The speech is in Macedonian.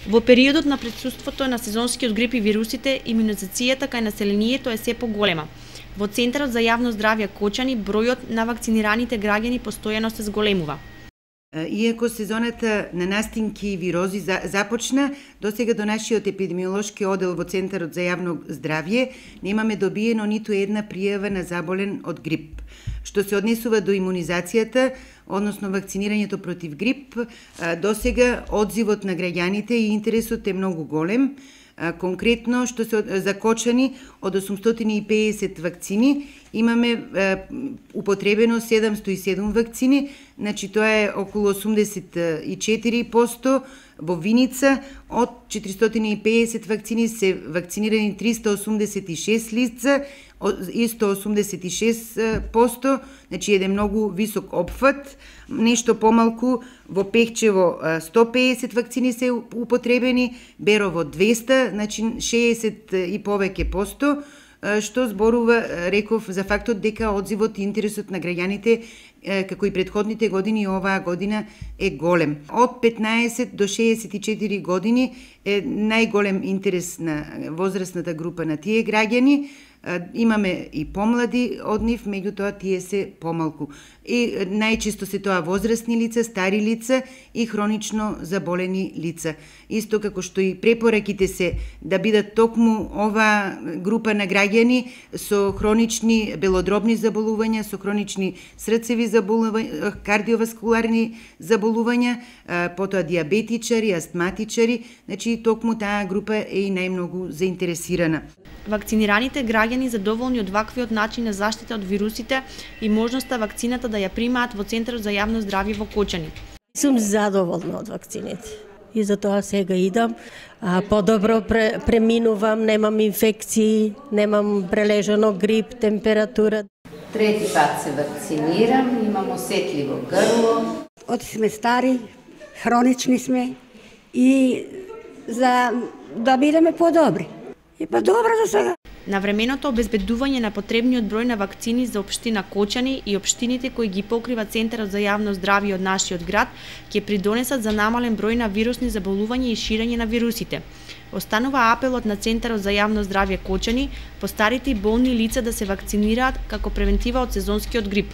Во периодот на присуството на сезонскиот грип и вирусите, имунизацијата кај населението е се поголема. Во Центарот за јавно здравје Кочани бројот на вакцинираните граѓани постојано се зголемува. Иако сезоната на настинки и вирози започна, досега до нашиот епидемиолошки одел во Центарот за јавно здравје немаме добиено ниту една пријава на заболен од грип. Што се однесува до имунизацијата, односно вакцинирањето против грип, досега одзивот на граѓаните и интересот е многу голем. Конкретно, што се закочани од 850 вакцини, имаме употребено 707 вакцини, значи тоа е околу 84%. Во Виница од 450 вакцини се вакцинирани 386 лица, исто 86%, значи еден многу висок опфат. Нешто помалку во Пехчево 150 вакцини се употребени, Берово 200, значи 60 и повеќе посто, што зборува, реков, за фактот дека одзивот и интересот на граѓаните како и претходните години, оваа година е голем. Од 15 до 64 години е најголем интерес на возрастната група на тие граѓани. Имаме и помлади од нив, меѓутоа тие се помалку. И најчесто се тоа возрастни лица, стари лица и хронично заболени лица. Исто како што и препораките се да бидат токму оваа група на граѓани со хронични белодробни заболувања, со хронични срцеви заболувања, кардиоваскуларни заболувања, потоа диабетичари, астматичари, значи токму таа група е и најмногу заинтересирана. Вакцинираните граѓани задоволни од ваквиот начин на заштита од вирусите и можноста вакцината да ја примаат во Центарот за јавно здравје во Кочани. Сум задоволна од вакцините и затоа сега идам. Подобро преминувам, немам инфекции, немам прележано грип, температура. Трети пат се вакцинирам, имам осетливо грло. Оти сме стари, хронични сме и за да бидеме подобри. И па добро за сега. Навременото обезбедување на потребниот број на вакцини за општина Кочани и општините кои ги покрива Центарот за јавно здравје од нашиот град ќе придонесат за намален број на вирусни заболувања и ширење на вирусите. Останува апелот на Центарот за јавно здравје Кочани, постарите и болни лица да се вакцинираат како превентива од сезонскиот грип.